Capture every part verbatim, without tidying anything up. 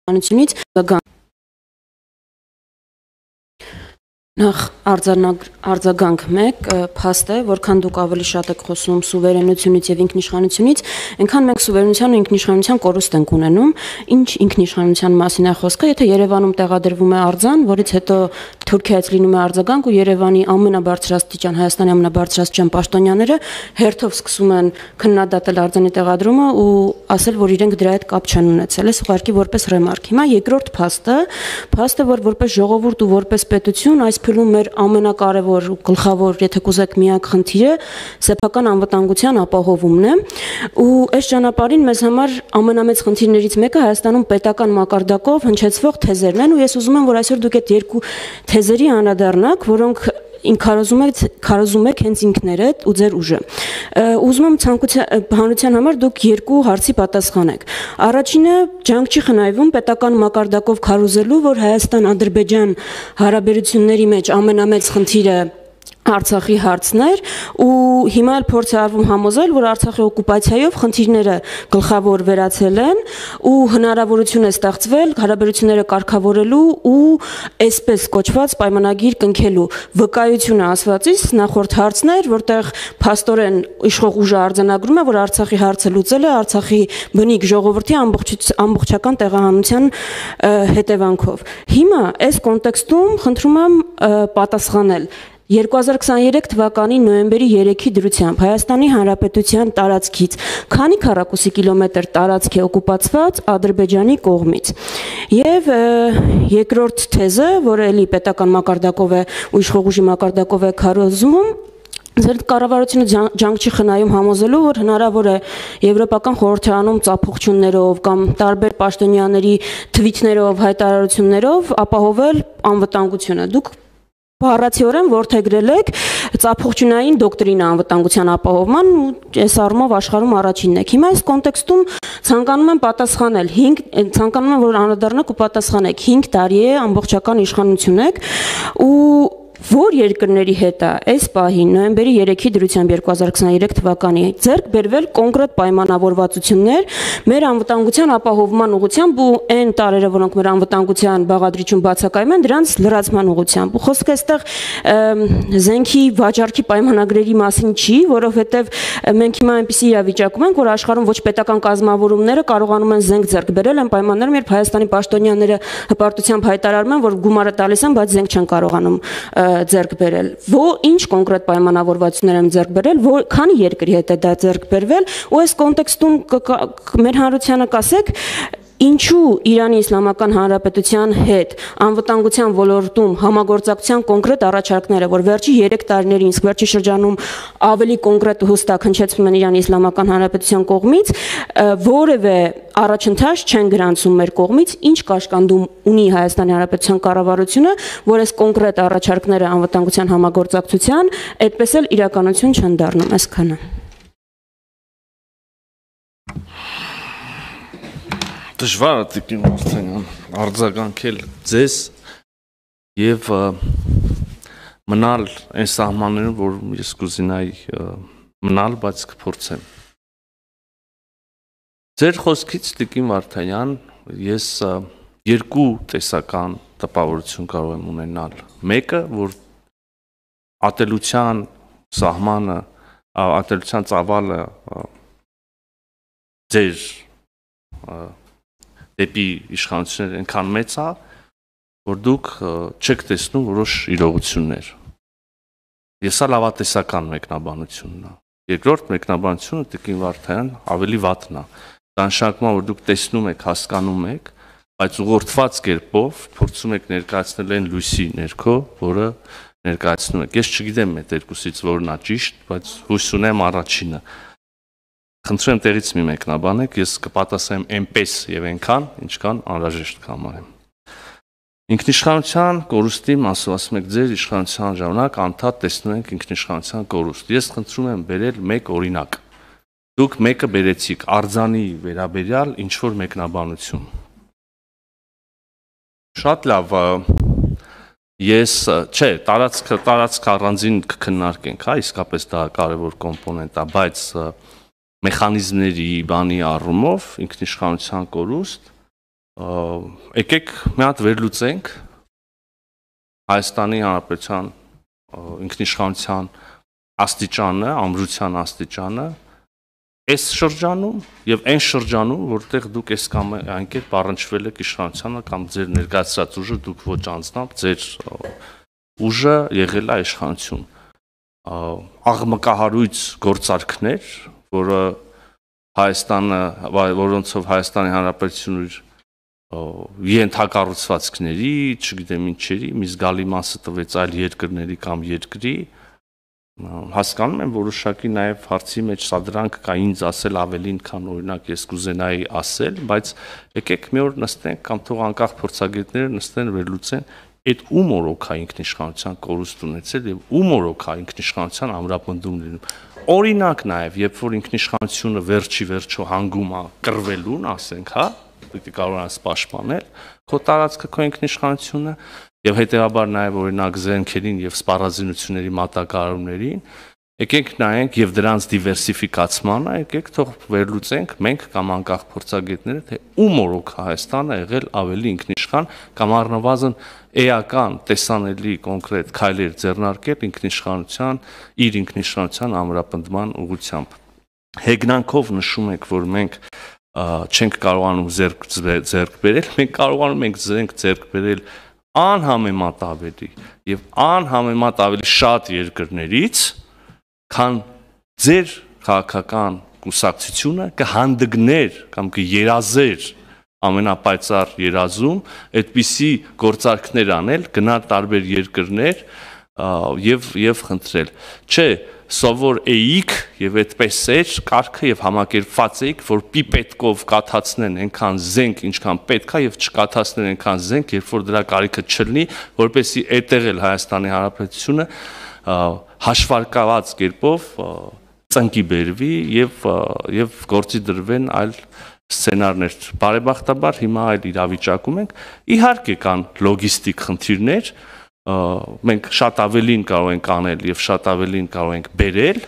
ինքնիշխանությունից Նախ արձագանք մեկ փաստ է, որքան դուք ավելի շատ եք խոսում սուվերենությունից եւ ինքնիշխանությունից, այնքան մենք սուվերենության ու ինքնիշխանության կորուստ ենք ունենում։ Ինչ ինքնիշխանության մասին է խոսքը, եթե Երևանում տեղադրվում է արձան, որից հետո Թուրքիայից լինում է արձագանք ու Երևանի ամենաբարձրաստիճան, Հայաստանի ամենաբարձրաստիճան պաշտոնյաները հերթով սկսում են քննադատել արձանի տեղադրումը ու ասել, որ իրենք դրա հետ կապ չեն ունեցել։ Այս ուղղակի որպես ռեմարկ։ Հիմա երկրորդ փաստը, փաստը, որ որպես ժողովուրդ ու որպես պետություն այս փուլում մեր ամենակարևոր ու գլխավոր, եթե կուզեք, միակ խնդիրը սեփական անվտանգության ապահովումն է, ու այս ճանապարհին մեզ համար ամենամեծ խնդիրներից մեկը Հայաստանում պետական մակարդակով հնչեցվող թեզերն են, ու ես ուզում եմ, որ այսօր դուք այդ երկու թեզերի անդրադառնաք, որոնք քարոզում եք քարոզում եք հենց ինքներդ ու ձեր ուժը։ Ուզում եմ ցանկության հանրության համար դուք երկու հարցի պատասխանեք։ Առաջինը ջանք չի խնայվում պետական մակարդակով քարոզելու, որ Հայաստան-Ադրբեջան հարաբերությունների մեջ ամենամեծ խնդիրը Արցախի հարցն էր, ու հիմա էլ փորձ է արվում համոզել, որ Արցախի օկուպացիայով խնդիրները գլխավոր վերացել են ու հնարավորություն է ստեղծվել հարաբերությունները կարգավորելու ու այսպես կոչված պայմանագիր կնքելու։ Վկայությունը ասվածից նախորդ հարցն էր, որտեղ փաստորեն իշխող ուժը արձանագրում է, որ Արցախի հարցը լուծել է Արցախի բնիկ ժողովրդի ամբողջական տեղահանության հետևանքով։ Հիմա այս կոնտեքստում խնդրում եմ պատասխանել երկու հազար քսաներեք թվականի նոյեմբերի երեքի դրությամբ Հայաստանի Հանրապետության տարածքից քանի քառակուսի կիլոմետր տարածք է օկուպացված Ադրբեջանի կողմից։ Եվ երկրորդ թեզը, որը էլի պետական մակարդակով է ու իշխող ուժի մակարդակով է քարոզվում, Ձեր կառավարությունը ջանք չի խնայում համոզելու, որ հնարավոր է Եվրոպական խորհրդարանում ծափողջություններով կամ տարբեր պաշտոնյաների թվիթներով, հայտարարություններով ապահովել անվտանգությունը։ Դուք Բառացիորեն որդեգրել եք ծափողջունային դոկտրինա անվտանգության ապահովման ու այս առումով աշխարհում առաջինն եք։ Հիմա այս կոնտեքստում ցանկանում եմ պատասխանել, ցանկանում եմ, որ անդրադառնաք ու պատասխանեք, հինգ տարի է ամբողջական իշխանություն եք ու որ երկրների հետ է այս պահին նոյեմբերի երեքի դրությամբ երկու հազար քսաներեք թվականի ձեռք բերվել կոնկրետ պայմանավորվածություններ մեր անվտանգության ապահովման ուղղությամբ ու այն տարերը, որոնք մեր անվտանգության բաղադրիչում բացակայում են, դրանց լրացման ուղղությամբ։ Ու խոսքը այստեղ զենքի վաճառքի պայմանագրերի մասին չի, որովհետև մենք հիմա այնպիսի իրավիճակում ենք, որ աշխարհում ոչ պետական կազմավորումները կարողանում են զենք ձեռք բերել այն պայմաններում, երբ Հայաստանի պաշտոնյաները հպարտությամբ հայտարարում են, որ գումարը տալիս են, բայց զենք չեն կարողանում ձեռք բերել։ Ո՞ր ինչ կոնկրետ պայմանավորվածություններ են ձեռք բերել, որ քանի երկրի հետ է դա ձեռք բերվել, ու այս կոնտեքստում մեր հանրությանը կասեք, ինչու Իրանի Իսլամական Հանրապետության հետ անվտանգության ոլորտում համագործակցության կոնկրետ առաջարկները, որ վերջի երեք տարիներին, իսկ վերջի շրջանում ավելի կոնկրետ ու հստակ հնչեցվում են Իրանի Իսլամական Հանրապետության կողմից, որևէ առաջընթաց չեն գրանցում մեր կողմից, ինչ կաշկանդում ունի Հայաստանի Հանրապետության կառավարությունը, որ այս կոնկրետ առաջարկները անվտանգության համագործակցության այդպես էլ իրականություն չեն դառնում, այսքանը։ Դժվար է Տիկին Վարդանյան արձագանքել ձեզ եւ մնալ այն սահմաններում, որ ես կուզենայի մնալ, բայց կփորձեմ։ Ձեր խոսքից Տիկին Վարդանյան ես երկու տեսական տպավորություն կարող եմ ունենալ։ Մեկը, որ ատելության սահմանը, ատելության ծավալը ձեր դեպի իշխանություններ այնքան մեծ է, որ դուք չեք տեսնում որոշ իրողություններ։ Ես ալ լավատեսական մեկնաբանությունն է։ Երկրորդ մեկնաբանությունը Տիկին Վարդանյան ավելի վատն է։ Դա նշանակում է, որ դուք տեսնում եք, հասկանում եք, բայց ուղղորդված կերպով փորձում եք ներկայացնել այն լույսի ներքո, որը ներկայացնում եք։ Ես չգիտեմ այդ երկուսից որն է ճիշտ, բայց հույս ունեմ առաջինը։ Խնդրեմ տեղից մի մեկնաբանեք, ես կպատասխանեմ այնպես եւ այնքան, ինչքան անհրաժեշտ կհամարեմ։ Ինքնիշխանության կորուստի մասով ասում եք ձեր իշխանության ժամանակ անդադ տեսնում ենք ինքնիշխանության կորուստ։ Ես խնդրում եմ բերել մեկ օրինակ։ Դուք մեկը բերեցիք արձանի վերաբերյալ ինչ որ մեկնաբանություն։ Շատ լավ, ես, չէ, տարածքը տարածք առանձին կքննարկենք, հա, իսկապես դա կարևոր կոմպոնենտ է, բայց մեխանիզմների բանի առումով ինքնիշխանության կորուստ եկեք մի հատ վերլուծենք Հայաստանի Հանրապետության ինքնիշխանության աստիճանը, ամրության աստիճանը այս շրջանում եւ այն շրջանում, որտեղ դուք այս կամ այն կերպ առնչվել եք իշխանությանը կամ ձեր ներկայացրած ուժը դուք ոչ անձնամբ ձեր ուժը եղել է իշխանություն։ Աղմկահարույց գործարքներ, որը Հայաստանը, որոնցով Հայաստանի Հանրապետությունը ենթակառուցվածքների, չգիտեմ ինչերի, մի զգալի մասը տվեց այլ երկրների կամ երկրի, հասկանում եմ որոշակի նաև հարցի մեջ սադրանք կա ինձ ասել ավելին, քան օրինակ ես կուզենայի ասել, բայց եկեք մի օր նստենք կամ թող անկախ փորձագետները նստեն վերլուծեն այդ ում օրոք է ինքնիշխանության կորուստ ունեցել եւ ում օրոք է ինքնիշխանության ամրապնդում լինում։ Օրինակ նաև, երբ որ ինքնիշխանությունը վերջի վերջո հանգում է կռվելուն, ասենք, հա, պետք է կարողանաս պաշտպանել քո տարածքը, քո ինքնիշխանությունը եւ հետեւաբար նաև օրինակ զենքերին եւ սպառազինությունների մատակարարումներին, եկեք նայենք եւ դրանց դիվերսիֆիկացմանը, եկեք թող վերլուծենք մենք կամ անկախ փորձագետները, թե ում օրոք Հայաստանը եղել ավելի ինքնիշխան կամ առնվազն էական տեսանելի կոնկրետ քայլեր ձեռնարկել ինքնիշխանության, իր ինքնիշխանության ամրապնդման ուղղությամբ։ Հեգնանքով նշում եք, որ մենք չենք կարողանում ձեռք ձեռք բերել, մենք կարողանում ենք ձեռք ձեռք բերել անհամեմատ ավելի եւ անհամեմատ ավելի շատ երկրներից, քան ձեր քաղաքական կուսակցությունը կհանդգներ կամ կերազեր ամենապայծառ երազում այդպիսի գործարքներ անել, գնալ տարբեր երկրներ եւ եւ խնդրել։ Չէ, սովոր էիք եւ այդպես էր կարգը եւ համակերպված էիք, որ պիպետկով կաթացնեն այնքան զենք, ինչքան պետք է եւ չկաթացնեն այնքան զենք, երբ որ դրա կարիքը չլինի, որպեսզի այդտեղ էլ Հայաստանի Հանրապետությունը հաշվարկված կերպով ծնկի բերվի եւ եւ գործի դրվեն այլ սցենարներ։ Բարեբախտաբար հիմա այլ իրավիճակում ենք։ Իհարկե կան լոգիստիկ խնդիրներ, մենք շատ ավելին կարող ենք անել եւ շատ ավելին կարող ենք բերել,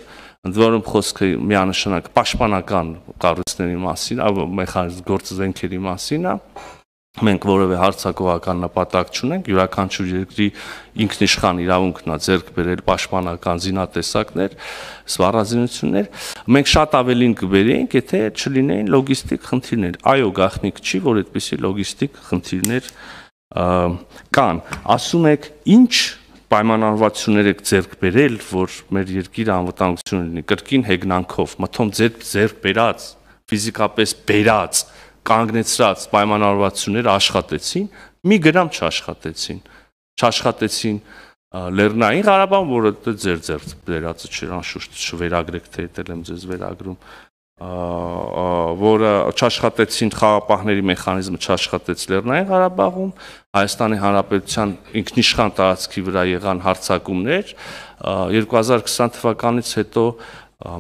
ընդ որում խոսքը միանշանակ պաշտպանական կառույցների մասին, մեխանիզմ գործազենքերի մասին է։ Մենք որևէ հարձակողական նպատակ չունենք, յուրաքանչյուր երկրի ինքնիշխան իրավունքն է ձեռք բերել պաշտպանական զինատեսակներ, սպառազինություններ։ Մենք շատ ավելին կբերեինք, եթե չլինեին լոգիստիկ խնդիրներ։ Այո, գաղտնիք չի, որ այդպիսի լոգիստիկ խնդիրներ կան։ Ասում եք, ինչ պայմանավորվածություններ եք ձեռք բերել, որ մեր երկիրը անվտանգություն լինի, կրկին հեգնանքով, մթոմ ձեր ձեռք բերած, ֆիզիկապես բերած կանգնեցրած պայմանավորվածությունները աշխատեցին, մի գրամ չաշխատեցին, չաշխատեցին Լեռնային Ղարաբաղ, որը ձեր ձեռք բերածը չէր, անշուշտ չվերագրեք, թե դել եմ ձեզ վերագրում, որը չաշխատեցին խաղապահների մեխանիզմը չաշխատեց Լեռնային Ղարաբաղում, Հայաստանի Հանրապետության ինքնիշխան տարածքի վրա եղան հարձակումներ, երկու հազար քսան թվականից հետո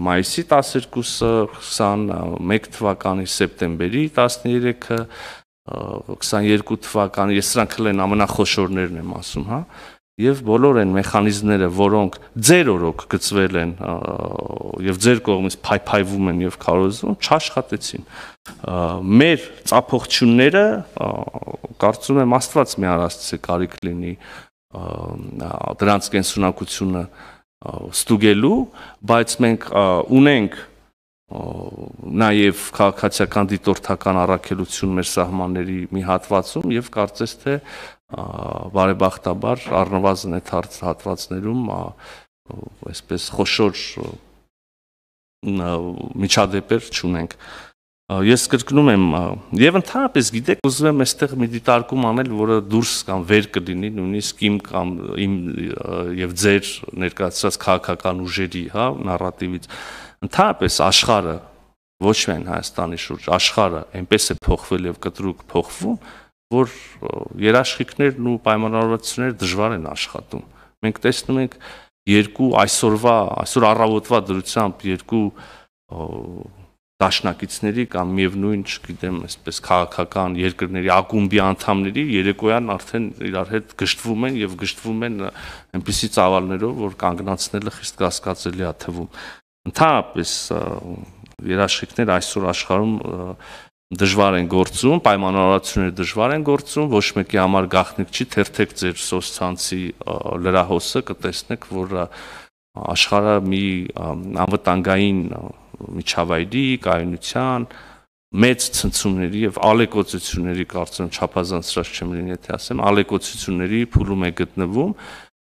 մայիսի տասներկուսը, քսանմեկ թվականի սեպտեմբերի տասներեքը, քսաներկու թվականի, ես սրանք են ամենախոշորներն եմ ասում, հա, եւ բոլոր այն մեխանիզմները, որոնք ձեր օրոք գծվել են եւ ձեր կողմից փայփայվում են եւ քարոզվում, չաշխատեցին։ Մեր ծափողությունները, կարծում եմ Աստված մի առաստի կարիք լինի դրանց կենսունակությունը ստուգելու, բայց մենք ունենք նաև քաղաքացիական դիտորդական առաքելություն մեր սահմանների մի հատվածում եւ կարծես թե բարեբախտաբար առնվազն այդ հատվածներում այսպես խոշոր միջադեպեր չունենք։ Ես կրկնում եմ եւ ընդհանրապես գիտեք, ուզում եմ այստեղ մի դիտարկում անել, որը դուրս կամ վեր կլինի նույնիսկ իմ կամ իմ եւ ձեր ներկայացրած քաղաքական ուժերի, հա, նարատիվից։ Ընդհանրապես աշխարհը, ոչ միայն Հայաստանի շուրջ, աշխարհը այնպես է փոխվել եւ կտրուկ փոխվում, որ երաշխիքներն ու պայմանավորվածությունները դժվար են աշխատում։ Մենք տեսնում ենք երկու այսօրվա, այսօր առավոտվա դրությամբ երկու դաշնակիցների կամ միևնույն, չգիտեմ, այսպես քաղաքական երկրների ակումբի անդամների երեկոյան արդեն իրար հետ գժտվում են եւ գժտվում են այնպիսի ծավալներով, որ կանգնացնելը խիստ կասկածելի է թվում։ Ընդհանրապես երաշխիքներ այսօր աշխարհում դժվար են գործում, պայմանավորվածությունները դժվար են գործում, ոչ մեկի համար գաղտնիք չի, թերթեք ձեր սոցցանցի լրահոսը կտեսնեք, որ աշխարհը մի անվտանգային միջավայրի, կայունության, մեծ ցնցումների եւ ալեկոծությունների կարծեմ չափազանցրած չեմ լինի, եթե ասեմ, ալեկոծությունների փուլում է գտնվում։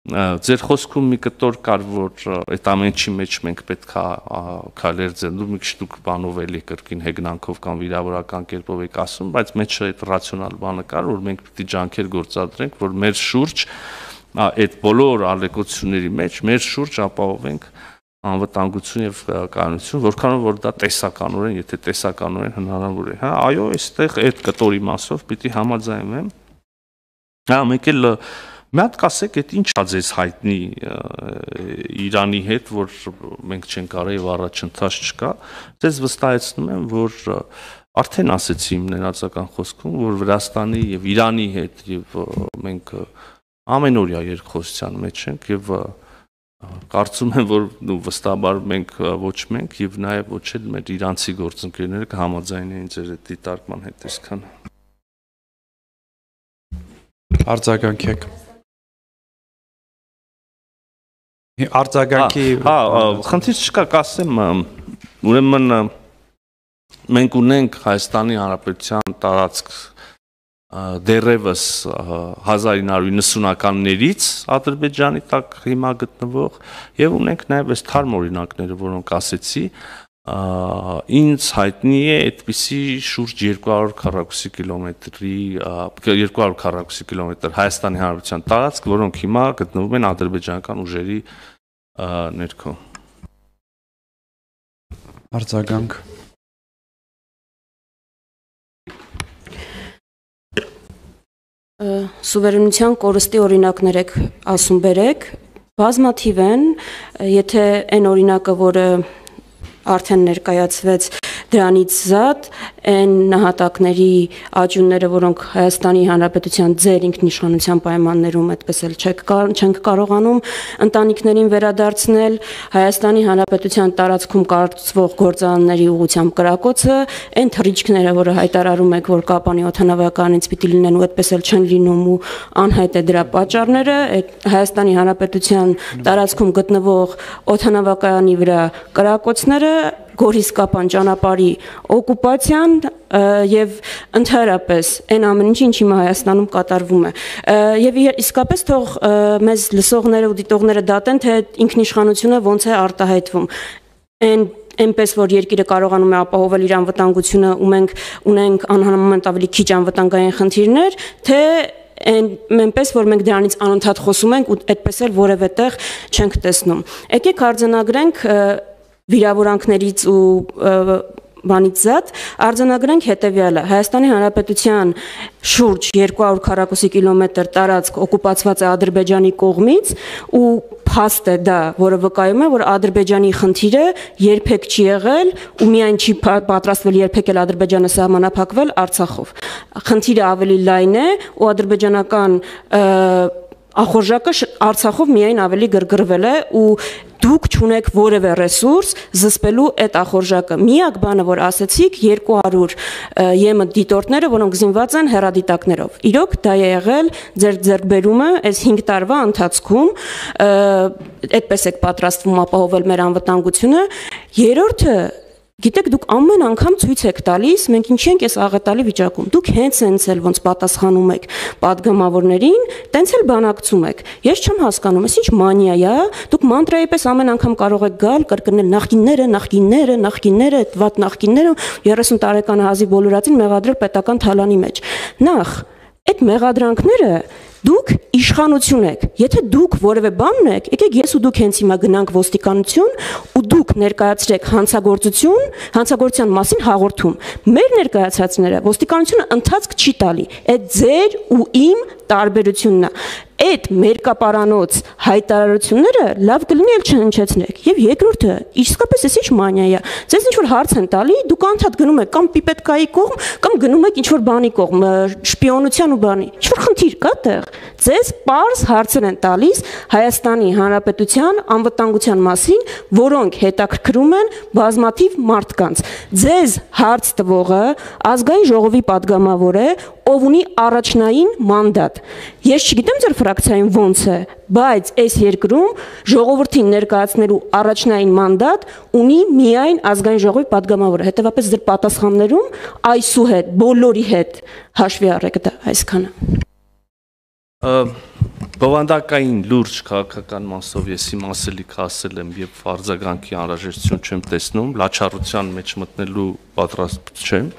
Ձեր խոսքում մի կտոր կար, որ այդ ամենի մեջ մենք պետք է քայլեր ձեռնու, մի քիչ դուք բանով էլի կրկին հեգնանքով կամ վիրավորական կերպով եք ասում, բայց մեջը այդ ռացիոնալ բանը կար, որ մենք պետք է ջանքեր գործադրենք, որ մեր շուրջ այդ բոլոր ալեկոծությունների մեջ մեր շուրջ ապահովենք անվտանգություն եւ կայունություն, որքանով որ դա տեսականորեն, եթե տեսականորեն հնարավոր է, հա, այո, այստեղ այդ կտորի մասով պիտի համաձայնվեմ։ Հա, մեկ էլ մի հատ կասեք, այդ ինչ ա ձեզ հայտնի Իրանի հետ, որ մենք չենք կարա եւ առաջընթաց չկա, ձեզ վստահեցնում եմ, որ արդեն ասեցի իմ ներածական խոսքում, որ Վրաստանի եւ Իրանի հետ եւ մենք ամենօրյա երկխոսության մեջ ենք եւ կարծում եմ, որ վստահաբար մենք ոչ մենք եւ նաեւ ոչ էլ մեր իրանցի գործընկերները կհամաձայնեին ձեր այդ դիտարկման հետ այսքան։ Արձագանքեք։ Արձագանքի հա, խնդիր չկա, կասեմ, ուրեմն մենք ունենք Հայաստանի Հանրապետության տարածք դեռևս հազար ինը հարյուր նվությաններից Ադրբեջանի տակ հիմա գտնվող եւ ունենք նաեւ այս թարմ օրինակները, որոնք ասեցի, ինձ հայտնի է այդպիսի շուրջ երկու հարյուր քառակուսի կիլոմետրի երկու հարյուր քառակուսի կիլոմետր Հայաստանի Հանրապետության տարածք, որոնք հիմա գտնվում են ադրբեջանական ուժերի ներքո։ Արձագանք։ Սուվերենության կորստի օրինակներ եք ասում բերեք, բազմաթիվ են, եթե այն օրինակը, որը արդեն ներկայացվեց դրանից զատ, այն նահատակների աճյունները, որոնք Հայաստանի Հանրապետության ձեր ինքնիշխանության պայմաններում այդպես էլ չենք կարողանում ընտանիքներին վերադարձնել, Հայաստանի Հանրապետության տարածքում կառուցվող գործարանների ուղղությամբ կրակոցը, այն թռիչքները, որը հայտարարում եք, որ Կապանի օդանավականից պիտի լինեն ու այդպես էլ չեն լինում ու անհայտ է դրա պատճառները, Հայաստանի Հանրապետության տարածքում գտնվող օդանավակայանի վրա կրակոցները, Գորիս-Կապան ճանապարհի օկուպացիան եւ ընդհանրապես այն ամեն ինչը ինչ հիմա Հայաստանում կատարվում է եւ իսկապես թող մեզ լսողները ու դիտողները դատեն, թե ինքնիշխանությունը ոնց է արտահայտվում այն այնպես որ երկիրը կարողանում է ապահովել իր անվտանգությունը ու մենք ունենք անհամեմատ ավելի քիչ անվտանգային խնդիրներ, թե այնպես որ մենք դրանից անընդհատ խոսում ենք ու այդպես էլ որևէ տեղ չենք տեսնում։ Եկեք արձանագրենք վիրավորանքներից ու բանից զատ արձանագրենք հետևյալը. Հայաստանի Հանրապետության շուրջ երկու հարյուր քառակուսի կիլոմետր տարածք օկուպացված է Ադրբեջանի կողմից ու փաստ է դա, որը վկայում է, որ Ադրբեջանի խնդիրը երբեք չի եղել ու միայն չի պատրաստվել երբեք էլ Ադրբեջանը սահմանափակվել Արցախով։ Խնդիրը ավելի լայն է ու ադրբեջանական ախորժակը Արցախով միայն ավելի գրգռվել է ու դուք չունեք որևէ ռեսուրս զսպելու այդ ախորժակը։ Միակ բանը, որ ասեցիք, երկու հարյուր ԵՄ դիտորդները, որոնք զինված են հեռադիտակներով։ Իրոք դա է եղել ձեր ձեռքբերումը այս հինգ տարվա ընթացքում, այդպես եք պատրաստվում ապահովել մեր անվտանգությունը։ Երրորդը, գիտեք, դուք ամեն անգամ ցույց եք տալիս, մենք ինչի ենք այս աղետալի վիճակում։ Դուք հենց հենց էլ ոնց պատասխանում եք падգամավորներին, տենց էլ բանակցում եք։ Ես չեմ հասկանում, այս ինչ մանիա է, դուք մանտրայի պես ամեն անգամ կարող եք գալ, կրկնել նախկինները, նախկինները, նախկինները, այդ վատ նախկինները, երեսուն տարեկան հազի բոլորածին մեղադրել պետական թալանի մեջ։ Նախ, այդ մեղադրանքները դուք իշխանություն եք։ Եթե դուք որևէ բան ունեք, եկեք ես ու դուք հենց հիմա գնանք ոստիկանություն ու դուք ներկայացրեք հանցագործություն, հանցագործության մասին հաղորդում։ Մեր ներկայացածները ոստիկանությունը ընթացք չի տալի։ Այդ ձեր ու իմ տարբերությունն է։ Այդ մերկապարանոց հայտարարությունները լավ կլինի էլ չհնչեցնեք։ Եվ երկրորդը, իսկապես էս ինչ մանիա է։ Ձեզ ինչ որ հարց են տալի, դուք անդադ գնում եք կամ պիպետկայի կողմ, կամ գնում եք ինչ որ բանի կողմ, շպիոնության ու բանի։ Ինչ որ խնդիր կա տեղ։ Ձեզ պարզ հարցեր են տալիս Հայաստանի Հանրապետության անվտանգության մասին, որոնք հետաքրքրում են բազմաթիվ մարդկանց։ Ձեզ հարց տվողը ազգային ժողովի падգամավոր է, ով ունի առաջնային մանդատ։ Ես չգիտեմ ձեր ֆրակցիայում ոնց է, բայց այս երկրում ժողովրդին ներկայացնելու առաջնային մանդատ ունի միայն ազգային ժողովի падգամավորը։ Հետևաբար ձեր պատասխաններում այսուհետ բոլորի հետ հաշվի առեք դա այսքանը։ Բովանդակային լուրջ քաղաքական մասով ես իմ ասելիքը ասել եմ եւ արձագանքի անհրաժեշտություն չեմ տեսնում, լաչառության մեջ մտնելու պատրաստ չեմ։